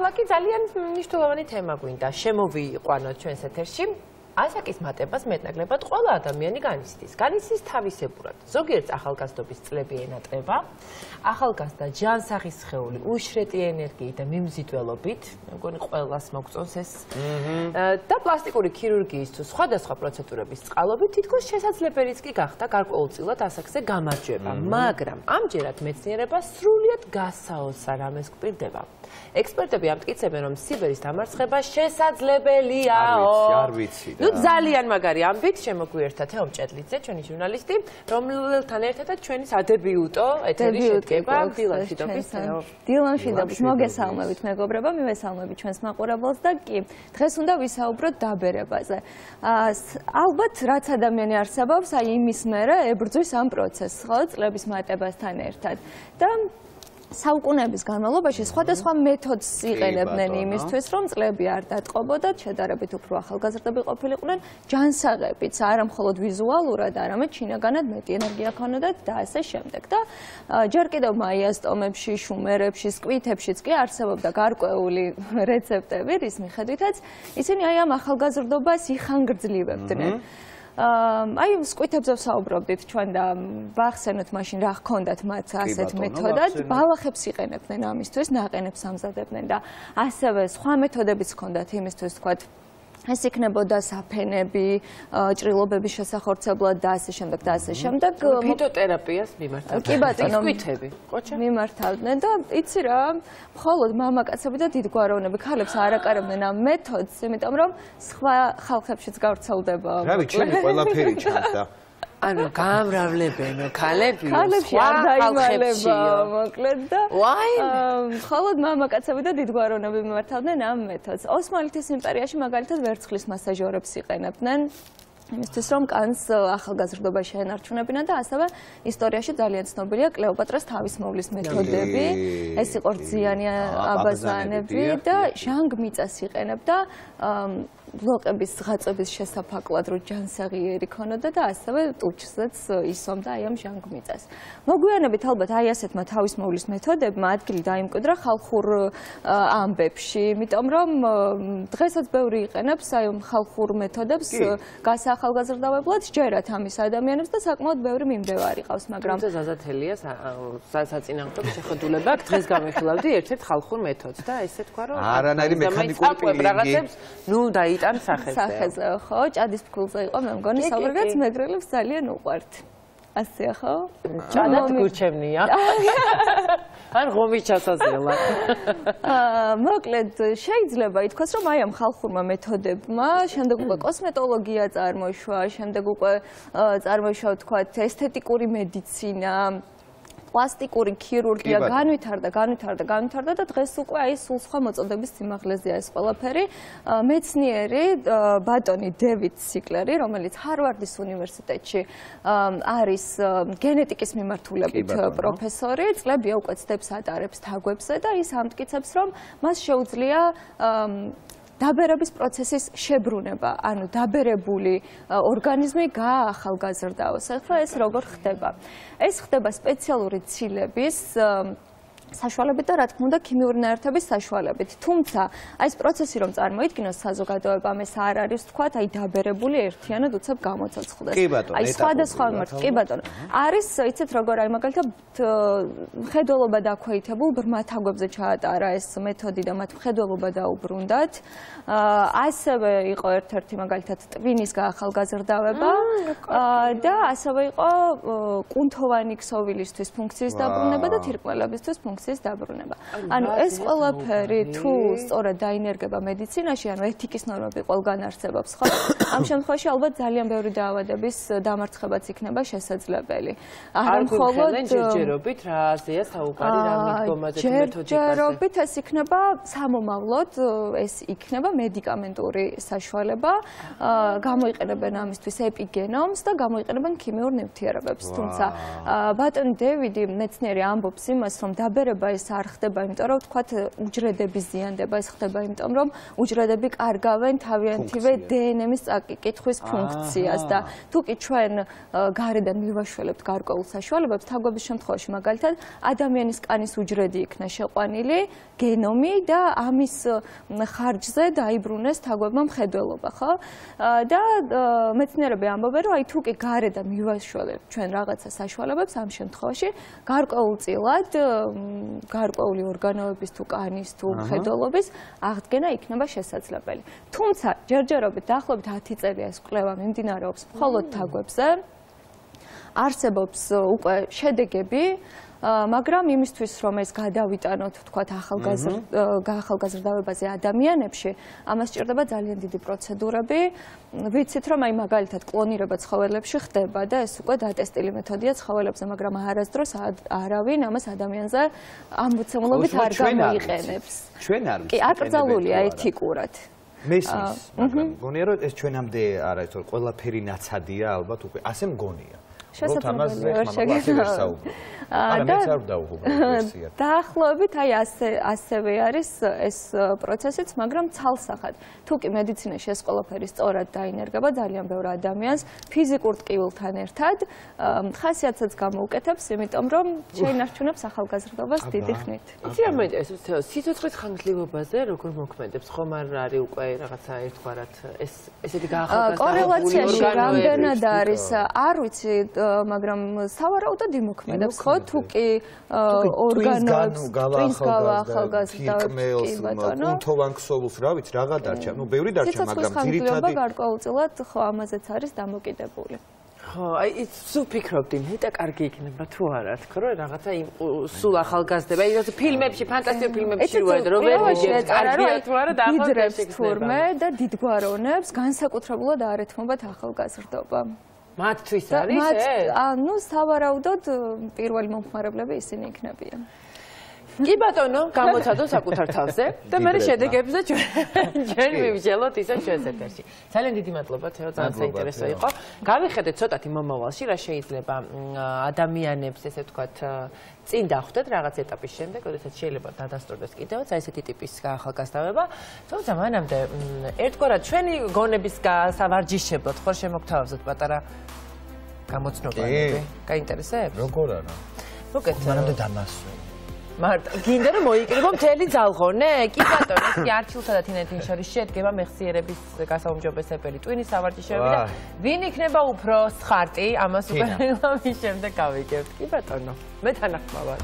ლაკი ძალიან მნიშვნელოვანი თემა გვინდა შემოვიყვანოთ ჩვენს ეთერში. ასაკის მატებას მეტნაკლებად ყველა ადამიანი განიცდის. განიცდის თავისებურად. ზოგიერთ ახალგაზრდობის წლები ენატრება, ახალგაზრდა ჯანსაღი სხეული, უშრეტი ენერგიით და მიმზიდველობით, მე მგონი ყველას მოგწონს ეს. და პლასტიკური ქირურგიის თუ სხვადასხვა პროცედურების წყალობით თითქოს შესაძლებელიც კი გახდა გარკვეულწილად ასაკზე გამარჯვება, მაგრამ ამჯერად მეცნიერება სრულიად გასაოცარ რამეს გვპირდება. ექსპერტები ამტკიცებენ, რომ სიბერის დამარცხება შესაძლებელიაო. არ ვიცი. ნუ ძალიან მაგარი ამბით შემოგვიერთდა თეო მჭედლიძე, ჩვენი ჟურნალისტი, რომელთან ერთადაც ჩვენი სადებიუტო ეთერი შედგება დილან შიდობის. დილან შიდობის მოგესალმებით მეგობრებო, მივესალმებით ჩვენს მაყურებელს და კი, დღეს უნდა ვისაუბროთ დაბერებაზე. ალბათ რაც ადამიანი არსებობს, აი იმის მერე ებრძვის ამ პროცესს, ხო, წლების მატებასთან ერთად. და საუკუნეების განმავლობაში სხვადასხვა მეთოდს იყენებდნენ იმისთვის, რომ წლები არ დატყობოდათ, შედარებით უფრო ახალგაზრდები ყოფილიყვნენ, ჯანსაღებიც, არა მხოლოდ ვიზუალურად, არამედ შინაგანად მეტი ენერგია ჰქონდათ და ასე შემდეგ. და ჯერ კიდევ მაიას ტომებში, შუმერებში, სკვითებშიც კი არსებობდა გარკვეული რეცეპტები, რის მიხედვითაც ისინი აი ამ ახალგაზრდობას იხანგრძლივებდნენ. აი სკვითებზე ვსაუბრობდით ჩვენ და ვახსენოთ მაშინ რა ჰქონდათ მათ ასეთ მეთოდად, ბალახებს იყენებდნენ ამისთვის, ნაყენებს ამზადებდნენ და ასევე სხვა მეთოდებიც ჰქონდათ იმისთვის, თქვათ ეს იქნებოდა საფენები, ჭრილობების შესახორცებლად და ასე შემდეგ და ასე შემდეგ. ფიტოთერაპიას მიმართავდნენ. კი ბატონო, სკვითები, ყოჩა მიმართავდნენ და იცი რა, მხოლოდ მამაკაცები და დიდგვაროვნები ქალებს არ აკარებდნენ ამ მეთოდს, იმიტომ რომ სხვა ხალხებშიც გავრცელდება. რავი, ჩემი ყველაფერი ჩანს და ანუ გამრავლებენო ქალები ქალებში არ დაიმალება მოკლედ და მხოლოდ მამაკაცები და დიდგვაროვნები მიმართავდნენ ამ მეთოდს. ოსმალეთის იმპერიაში მაგალითად ვერცხლის მასაჟორებს იყენებდნენ იმისთვის რომ კანს ახალგაზრდობაში ენარჩუნებინათ და ასევე ისტორიაში ძალიან ცნობილია კლეოპატრას თავისმოვლის მეთოდები. ეს იყო რძიანი აბაზანები და ჟანგ-მიწას იყენებდა ბლოკების ღაწვების შესაფაკლად, რომ ჯანსაღიერი ქონოდა და ასევე ტუჩზეც ისომდა აი ამ ჟანგ-მიწას. მოგვიანებით ალბათ აი ასეთმა თავისმოვლის მეთოდებმა ადგილი დაიმკვიდრა ხალხურ ამბებში, იმიტომ რომ დღესაც ბევრი იყენებს აი ამ ხალხურ მეთოდებს გასაახალგაზრდავებლად, ჯერათ ამის ადამიანებს და საკმაოდ ბევრი მიმდევარი ყავს, მაგრამ ზაზათელია საწინააღმდეგო შეხედულება აქვს, დღეს გამიხილავდი ერთ-ერთ ხალხურ მეთოდს და ესე თქვა რომ არანაირი მექანიკური პილინგი ნუ დაიტან სახეზე. სახეზე, ხო, ჭადის ფქულზე იყო, მე მგონი საუბრად მეგრელებს ძალიან უყვართ. ასეა, ხო? ჭადად გურჩევნია. ან ღომის ჩასაზრელა. მოკლედ, შეიძლება ითქვას, რომ აი ამ ხალხურმა მეთოდებმა შემდეგ უკვე კოსმეტოლოგია წარმოიშვა, შემდეგ უკვე წარმოიშვა, ვთქვათ, ესთეტიკური მედიცინა, პლასტიკური ქირურგია განვითარდა და დღეს უკვე აი სულ სხვა მოწოდების სიმაღლეზეა ეს ყველაფერი. მეცნიერი ბატონი დევიდ სიკლერი, რომელიც ჰარვარდის უნივერსიტეტში არის გენეტიკის მიმართულებით პროფესორი, წლებია უკვე ცდებს ატარებს თაგვებზე და ის ამტკიცებს, რომ მას შეუძლია დაბერების პროცესის შებრუნება, ანუ დაბერებული ორგანიზმი გაახალგაზრდაოს. ახლა ეს როგორ ხდება? ეს ხდება სპეციალური ცილების საშუალებით და რა თქმა უნდა ქიმიური ნაერთების საშუალებით. თუმცა აი ეს პროცესი რომ წარმოიდგინოს საზოგადოებამ ეს არ არის თქვათ აი დაბერებული ერთიანად უცებ გამოცოცხლდეს. აი სხვადასხვა მიმართ კი ბატონო. არის იცით როგორ აი მაგალითად მხედველობა დაქვეითებულ ბრმა თაგვებზე ჩაატარა ეს მეთოდი და მათ მხედველობა დაუბრუნდათ. ასევე იყო ერთ-ერთი მაგალითად ტვინის გაახალგაზრდავება და ასევე იყო კუნთოვანი ქსოვილისთვის ფუნქციის დაბრუნება და თირკმელებისთვის ფუნქციის დაბრუნება. ანუ ეს ყველაფერი თუ სწორად დაინერგება მედიცინაში, ანუ ეთიკის ნორმები ყველგან არსებობს, ხო? ამ შემთხვევაში ალბათ ძალიან ბევრი დაავადების დამარცხებაც იქნება შესაძლებელი. არ მხოლოდ ჯერჯერობით რა აზია საუბარი რა მიდგომა ეს მეთოდიკაზე. ჯერჯერობით ეს იქნება სამომავლოდ, ეს იქნება მედიკამენტური საშუალება, გამოიყენებენ ამისთვის ეპიგენომს და გამოიყენებენ ქიმიურ ნივთიერებებს. თუმცა ბატონი დევიდი მეცნიერი ამბობს იმას, რომ დაბერება კლონირება ეს არ ხდება, იმიტომ რომ თქვათ უჯრედების ზიანდება, ეს ხდება იმიტომ რომ უჯრედები კარგავენ თავიანთივე დნმ-ის წაკითხვის ფუნქციას და თუ კი ჩვენ გარედან მივაშველებთ გარკვეულ საშუალებებს, თაგვების შემთხვევაში მაგალითად ადამიანის კანის უჯრედი იქნა შეყვანილი, გენომი და ამის ხარჯზე დაიბრუნეს თაგვებმა მხედველობა, ხო? და მეცნიერები ამბობენ, რომ აი თუ კი გარედან მივაშველებთ ჩვენ რაღაცა საშუალებებს, ამ შემთხვევაში გარკვეულწილად გარკვეული ორგანოების თუ კანის თუ მხედველობის აღდგენა იქნება შესაძლებელი. თუმცა ჯერჯერობით დაახლოებით 10 წელია ეს კვლევა მიმდინარეობს მხოლოდ თაგვებზე. არსებობს უკვე შედეგები, მაგრამ იმისთვის რომ ეს გადავიტანოთ თქვათ ახალგაზრდავებაზე ადამიანებში, ამას სჭირდება ძალიან დიდი პროცედურები. ვიცით რომ აი მაგალითად კლონირება ცხოველებში ხდება და ეს უკვე დატესტილი მეთოდია ცხოველებზე, მაგრამ არასდროს არავინ ამას ადამიანზე ამბოცემულობით არ გამოიყენებს. ჩვენ არ კი, აკრძალულია ეთიკურად. მესმის, მაგრამ მგონია რომ ეს ჩვენამდე არა ეს ყველაფერი ნაცადია ალბათ უკვე ასე მგონია. დაახლოებით აი ასევე არის ეს პროცესიც, მაგრამ ცალსახად. თუ კი მედიცინაში ეს ყველაფერი სწორად დაინერგება ძალიან ბევრ ადამიანს ფიზიკურ ტკივილთან ერთად, ხასიათსაც გამოუკეთებს, იმიტომ რომ შეინარჩუნებს ახალგაზრდობას დიდი ხნით. იცი რა მეინტერესებს, სიცოცხლის ხანგრძლივობაზე როგორ მოქმედებს, ხომ არ არის უკვე რაღაცა ერთგვარად ესეთი გაახალგაზრდებული კორელაციაში რამდენად არის, არ ვიცი, მაგრამ სავარაუდოდ იმოქმედებს, ხო? თუ კი ორგანოებს twins გავაახალგაზრდავებს, კუნთოვან ქსოვილს, რა ვიცი, რაღა დარჩა, ნუ ბევრი დარჩა, მაგრამ ძირითადად გარკვეულწილად ხო ამაზეც არის დამოკიდებული. ხო, აი ის სულ ფიქრობდი, მეტა კარგი იქნება თუ არა, თქო რომ რაღაცა სულ ახალგაზრდება, აი რა ფილმებში, ფანტასტიკურ ფილმებში როა რომ ვერ ვიგებ, კარგია თუ არა დაახლოებით თურმე და დიდგვარონებს განსაკუთრებულად არ ეთმობათ ახალგაზრდობა. მათთვის არის ეს? ანუ სავარაუდოდ პირველი მომხმარებლები ისინი იქნებიან. კი ბატონო, გამოცადო საკუთარ თავზე და მე შედეგებზე ჩვენ მივიჯელოთ ისე ჩვენს ეთერში. ძალიან დიდი მადლობა, თეო, ძალიან საინტერესო იყო. გავიხედეთ ცოტათი მომავალში, რა შეიძლება ადამიანებს, ესე ვთქვათ, წინ დახვდეთ რაღაც ეტაპის შემდეგ, როდესაც შეიძლება დადასტურდეს კიდევაც აი ესეთი ტიპის ახალგაზრდავება. თუმცა მანამდე ერთგვარად ჩვენი გონების გასავარჯიშებლად ხო შემოგთავაზოთ პატარა გამოცნობები. გაინტერესებს? როგორ არა? მოკეთ, მანამდე დამასვე. მარტო, გინდა რომ მოიკრიბო მთელი ძალღონე? კი ბატონო, ეს კი არჩილთა და თინათინ შორის შედგება მეხსიერების გასაუმჯობესებელი ტვინის სავარჯიშოები და ვინ იქნება უფრო სხარტი, ამას უკვე მის შემდეგ გავიგებთ. კი ბატონო, მე თანახმავარ.